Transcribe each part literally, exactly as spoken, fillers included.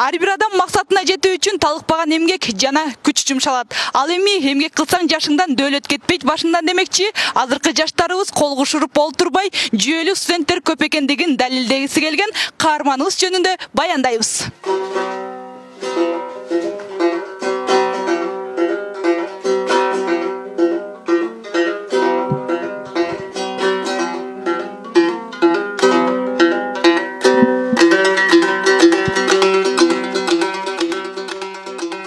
Ар бир адам максатына жетүү үчүн талыкпаган эмгек жана күч жумшалат. Ал эми эмгек кылсаң жашыңдан дөөлөт кетпейт башыңдан демекчи, азыркы жаштарыбыз кол кушуруп олтурбай, жүйөлүк студенттер көп экендигин далилдегиси келген каарманыбыз жөнүндө баяндайбыз.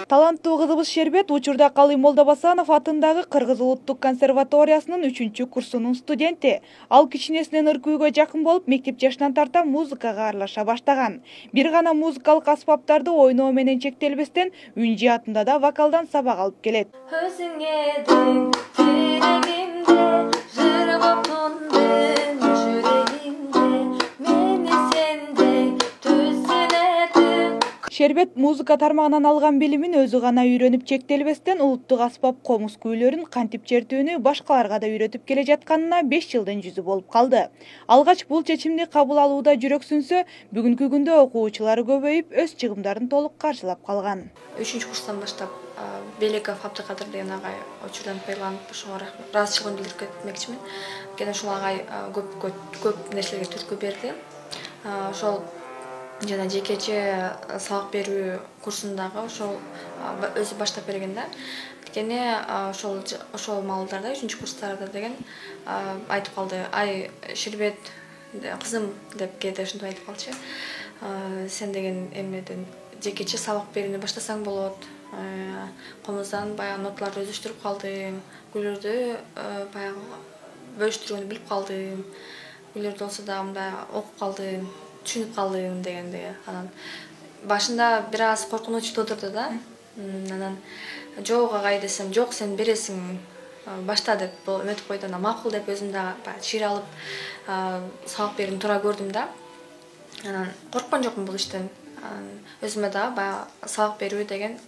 Таланттуу кызыбыз Шербет учурда Калый Молдобасанов атындагы Кыргыз улуттук консерваториясынын үчүнчү курсунун студенти. Ал кичинесинен ыркүйгө жакын болуп, мектеп жашынан тарта музыкага аралаша баштаган. Бир гана музыкалык аспаптарды ойноо менен чектелбестен, үн жаатында да вокалдан сабак алып келет. Өзүңө дең тирегимде жыр боп тондун жүрөгүмдө мени сендей түзүнөтүн. Шербет музыка тармагынан алган билимин өзү гана үйрөнүп чектелбестен, улуттук аспап комуз күүлөрүн кантип чертүүнү башкаларга да үйрөтүп келе жатканына беш жылдын жүзү болуп калды. Алгач бул чечимди кабыл алууда жүрөксүнсө, бүгүнкү күндө окуучулары көбөйүп, өз чыгымдарын толук каржылап калган. үчүнчү курстан баштап Белеков Абдыкадыр деген агай учурдан пайдаланып, ошого ыраазычылыгын билдирип кетмекчимин. Анткени ушул агай көп көп нерселерге түрткү берди. Ошол жана жекече сабак берүү курсундагы ошол өзү баштап берген да. Анткени ошол ошол маалдарда үчүнчү курстарда деген айтып калды. Ай Шербет кызым деп кээде ушинтип айтып калчу. Сен деген эмеден жекече сабак берүүнү баштасаң болот. Комуздан баягы ноталарды өзүштүрүп калдым. Күйлөрдү баягы бөлүштүрүүнү билип калдым. Күйлөрдү болсо да мындай окуп калдым. Түшүнүп калдым дегенде, анан башында бир аз коркунуч туудурду да. Анан жок агай десем, жок сен бересиң, башта деп өтүп койду. Анан макул деп өзүм да чир алып сабак берүүнү туура көрдүм да. Анан корккон жокмун бул иштен. Өзүмө да баягы сабак берүү деген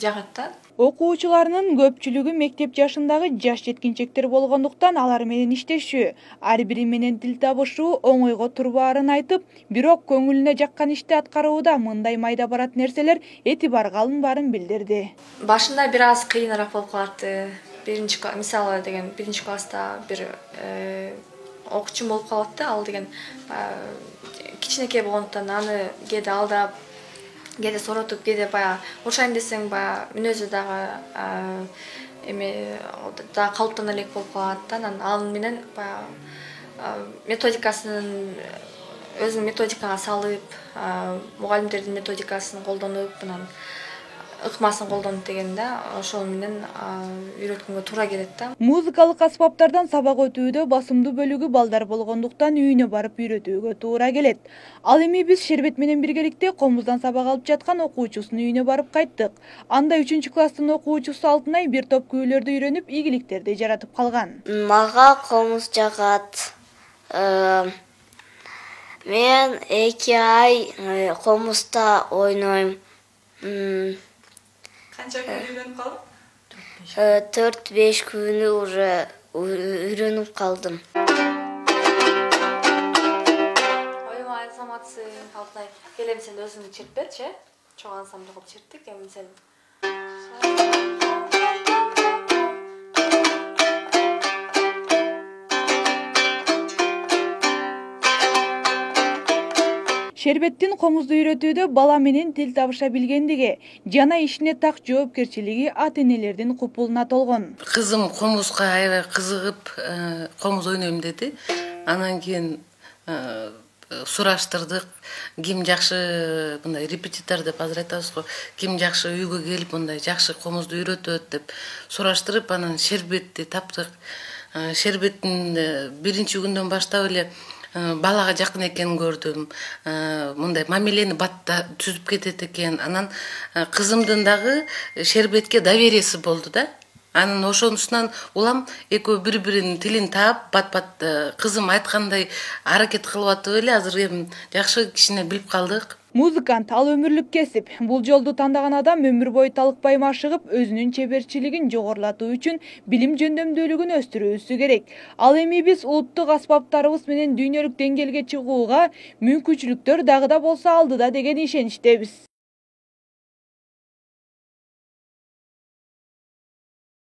жагат да. Окуучуларынын көпчүлүгү мектеп жашындагы жаш жеткинчектер болгондуктан алар менен иштешүү, ар бири менен тил табышуу оңойго турбаарын айтып, бирок көңүлүнө жаккан ишти аткарууда мындай майда барат нерселер этибарга алынбаарын билдирди. Башында бир аз кыйыныраак болуп калат. Биринчи мисалы деген биринчи класста бир окуучум болуп калат да, ал деген кичинекей болгондуктан аны кээде алдап, кээде соротуп, кээде баягы урушайм десең баягы мүнөзү дагы эме да калыптана элек болуп калат да. Анан ал менен баягы методикасын өзүң методикага салып, мугалимдердин методикасын колдонуп, анан ыкмасын колдонуп деген да, ошол менен үйрөткөнгө туура келет да. Музыкалык аспаптардан сабак өтүүдө басымдуу бөлүгү балдар болгондуктан үйүнө барып үйрөтүүгө туура келет. Ал эми биз Шербет менен биргеликте комуздан сабак алып жаткан окуучусунун үйүнө барып кайттык. Анда үчүнчү класстын окуучусу Алтынай бир топ күүлөрдү үйрөнүп, ийгиликтерди жаратып калган. Мага комуз жагат. Мен эки ай комузда ойнойм. Канча күн үйрөнүп калдың? төрт беш күнү уже үйрөнүп калдым. Ойма азаматсың, Алтынай. Келем сен өзүң чертип берчи, чоң ансамбль кылып черттик, эми сен. Шербеттин комузду үйрөтүүдө бала менен тил табыша билгендиги жана ишине так жоопкерчилиги ата-энелердин купулуна толгон. Кызым комузга аябай кызыгып, комуз ойнойм деди. Анан кийин сураштырдык, ким жакшы мындай репетитор деп азыр айтабыз го, ким жакшы үйгө келип мындай жакшы комузду үйрөтөт деп сураштырып, анан Шербетти таптык. Шербеттин биринчи күндөн баштап эле балага жакын экенин көрдүм. Мындай мамилени батта түзүп кетет экен. Анан кызымдын дагы Шербетке довериясы болду да. Анан ошонусунан улам экөө бири-биринин тилин таап, бат-бат кызым айткандай аракет кылып атып эле азыр эми жакшы кичине билип калдык. Музыкант ал өмүрлүк кесип. Бул жолду тандаган адам өмүр бою талыкпай машыгып, өзүнүн чеберчилигин жогорулатуу үчүн билим жөндөмдүүлүгүн өстүрүүсү керек. Ал эми биз улуттук аспаптарыбыз менен дүйнөлүк деңгээлге чыгууга мүмкүнчүлүктөр дагы да болсо алдыда деген ишеничтебиз.